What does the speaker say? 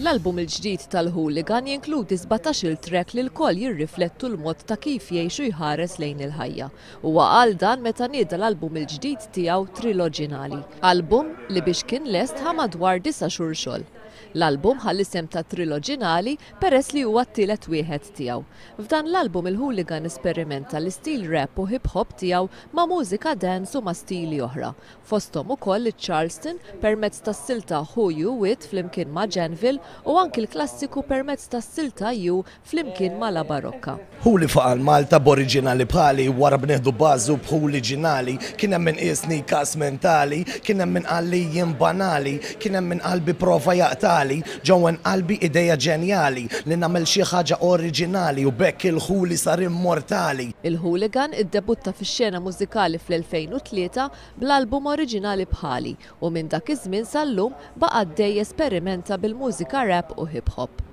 L-album il-ġdid tal-Hooligan jinkludi 17-il track li lkoll jirriflettu l-mod ta' kif jgħix u jħares lejn il-ħajja. Huwa qal dan meta nieda l-album il-ġdid tiegħu Triloġinali. Album li biex kien lest ħa madwar disa' xhur xogħol. L-album ħa l-isem ta' Triloġinali peress li huwa t-tielet wieħed tiegħu. F'dan l-album il-Hooligan esperimenta l-istil rap u hip hop tiegħu ma' mużika dance u ma' stili oħra. Fosthom ukoll iċ-Charleston permezz tas-silta Who You With flimkien ma' Janville u anki l-klassiku permezz tas-silta You flimkien ma' La Barocca. Hu li faqa' l-Malta b'oriġinali bħali Wara b'nieħdu bażu b'ħuliġinali Kien hemm min qiesni każ mentali Kien hemm min qal li jien banali Kien hemm min qalbi prova jaqtagħli Ġewwen qalbi ideja ġenjali Li nagħmel xi ħaġa oriġinali U b'hekk il-ħuli sar immortali. Il-Hooligan iddebutta fix-xena mużikali fl-2003 bl-album oriġinali Bħali u minn dak iż-żmien sal-lum baqa' għaddej jesperimenta bil-mużika rap u hip hop.